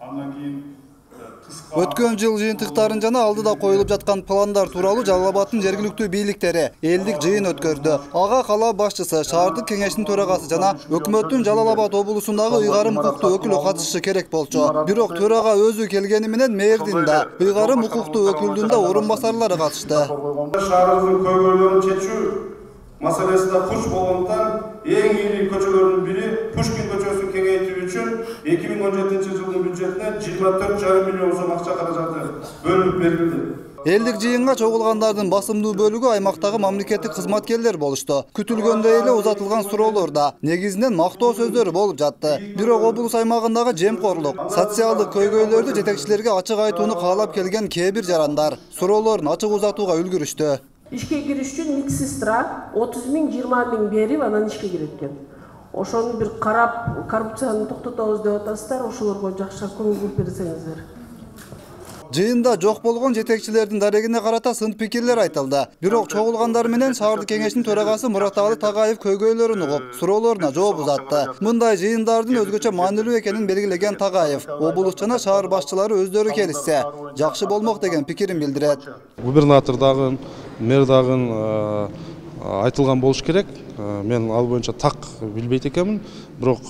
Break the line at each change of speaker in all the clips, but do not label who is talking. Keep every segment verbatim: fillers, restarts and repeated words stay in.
Андан кийин
өткөн жыл жыйынтыктарын жана алдыда коюлуп жаткан пландар тууралуу Жалал Абадтын жергиликтүү бийликтери элдик жыйын өткөрдү. Ага кала башчысы, шаардык кеңештин төрагасы жана өкмөттүн Жалал Абад облусундагы ыйгарым укуктуу өкүлү катышышы керек болчу. Бирок төрага өзү келгени менен мэрдин да, ыйгарым укуктуу өкүлдүн да орун басарлары катышты.
Шаарыбыздын көйгөйлөрүн чечүү маселесinde курч болгондуктан эң ири көчөлөрдүн бири Пушкин көчөсүн кеңейтүү үчүн эки миң он жетинчи жылдын бюджетинен жыйырма төрт жарым миллион сом акча каражаты бөлүнүп берилди.
Элдик жыйынга чогулгандардын басымдуу бөлүгү аймактагы мамлекеттик кызматкерлер болушту. Күтүлгөндөй эле узатылган суроолор да негизинен мактоо сөздөрү болуп жатты. Бирок облус аймагындагы жемкорлук, социалдык көйгөйлөрдү жетекчилерге ачык айтууну каалап келген кээ бир жарандар суроолорун ачык узатууга үлгүрүштү.
Ишке кириш үчүн медсестра отуз миң жыйырма миң берип анан ишке кирет экен. Ошону бир карап коррупцияны токтотобуз деп атасыздар, ошолорго жакшыраак көңүл буруп берсеңиздер.
Жыйында жок болгон жетекчилердин дарегине карата сын пикирлер айтылды. Бирок чогулгандар менен шаардык кеңештин төрагасы Мураталы Тагаев көйгөйлөрүн угуп, суроолоруна жооп узатты. Мындай жыйындардын өзгөчө маанилүү экенин белгилеген Тагаев, облус жана шаар башчылары өздөрү келишсе, жакшы болмок деген пикирин билдирет.
Губернатор дагы, мэр дагы айтылган болуш керек. Мен ал боюнча так билбейт экенмин. Бирок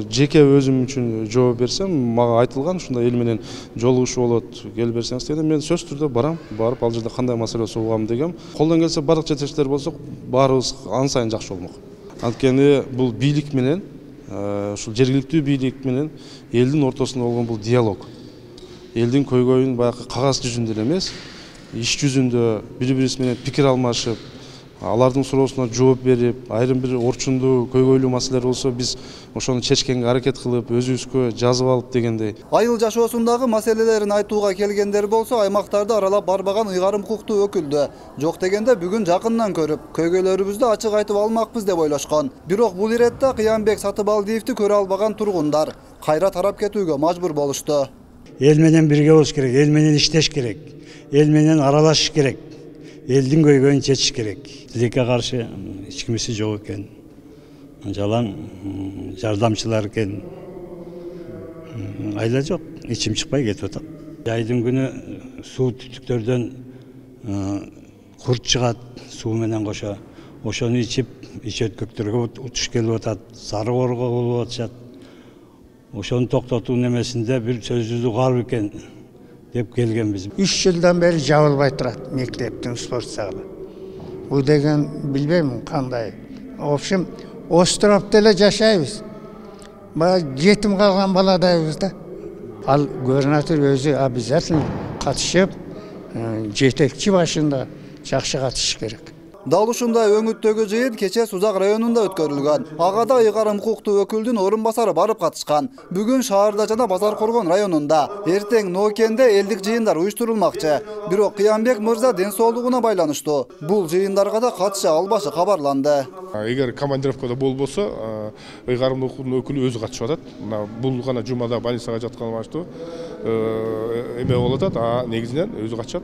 жеке өзүм үчүн жооп берсем, мага айтылган ушундай эл менен жолугушуу болот, келип берсеңиз дегенде мен сөзсүз түрдө барам, барып ал жерде кандай маселе суугам дегем. Колдон келсе бардык жетекчилер болсок, баарыбыз ан сайын жакшы болмок. Анткени бул бийлик менен, ушул жергиликтүү бийлик менен элдин ортосунда болгон бул диалог. Элдин көйгөйүн баягы кагаз жүзүндө эле эмес, иш жүзүндө бири-бирибиз менен пикир алмашып, алардын суроосуна жооп берип, айрым бир орчундуу көйгөйлүү маселелер болсо биз ошону чечкенге аракет кылып, өзүбүзгө жазып алып дегендей.
Айыл жашоосундагы маселелерин айтууга келгендер болсо, аймактарды аралап барбаган ыйгарым укуктуу өкүлдү жок дегенде бүгүн жакындан көрүп, көйгөйлөрүбүздү ачык айтып алмакпыз деп ойлошкон. Бирок бул иретте Кыянбек Сатыбалдиевди көрө албаган тургундар кайра тарап кетүүгө мажбур болушту.
Эл менен бирге болуш керек, эл менен иштеш керек, эл менен аралашыш керек. Элдин көйгөйүн чечиш керек. Тилекке каршы эч кимиси жок экен. Жалаң жардамчылар экен. Айла жок, ичим чыкпай кетип атат. Жайдын күнү суу түтүктөрдөн курт чыгат, суу менен кошо. Ошону ичип, ич өткөктөргө утуш келип атат, сары коорго болуп атышат. Ошону токтотуу немесинде бир сөзүбүздү кар экен деп келгенбиз.
үч жылдан бери жабылбай турат мектептин спорт залы. Бул деген билбейм кандай. В общем, островдо эле жашайбыз. Баягы жетим калган баладайбыз да. Ал губернатор өзү обязательно катышып, жетекчи башында жакшы катышыш керек.
Дал ушундай өңүттөгү жыйын кече Сузак районунда өткөрүлгөн. Ага да ыйгарым укуктуу өкүлдүн орун басары барып катышкан. Бүгүн шаарда жана Базар Коргон районунда, эртең Ноокенде элдик жыйындар уюштурулмакчы. Бирок Кыянбек мырза ден соолугуна байланыштуу. Бул жыйындарга да катыша албашы кабарланды.
Эгер командировкада болбосо, ыйгарым укуктуу өкүлү өзү катышып атат. Бул гана жумада больницага жаткан баштуу эме болуп атат, а негизинен өзү катышат.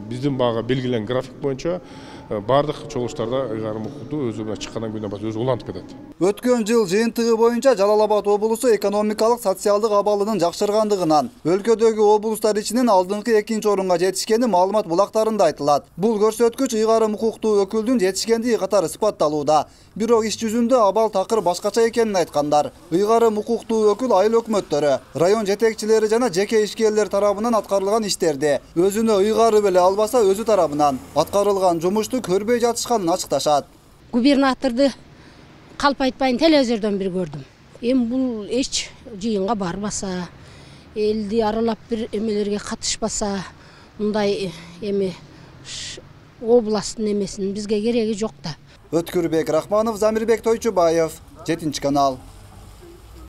Биздин бага белгилenen график боюнча бардык чогулуштарда ыйгарым укуктуу өзү менен чыккандан кийин башка өзү улантып кетет.
Өткөн жыл жыйынтыгы боюнча Жалал Абад облусу экономикалык социалдык абалынын жакшыргандыгынан өлкөдөгү облустар ичинен алдыңкы экинчи орунга жетишкени маалымат булактарында айтылат. Бул көрсөткүч ыйгарым укуктуу өкүлдүн жетишкендиги катары сыпатталууда. Бирок иш жүзүндө абал такыр башкача экенин айткандар. Ыйгарым укуктуу өкүл айыл өкмөттөрү, район жетекчилери жана жеке ишкерлер тарабынан аткарылган иштерди өзүнө ыйгарып эле албаса өзү тарабынан аткарылган жумушту көрбөй жатышканын ачыкташат.
Губернаторду калп айтпайын телевизордон бир көрдүм. Эми бул эч жыйынга барбаса, элди аралап бир эмелерге катышпаса, мындай эми областтын эмесинин бизге кереги жок да.
Өткүрбек Рахманов, Замирбек Тойчубаев, жетинчи канал.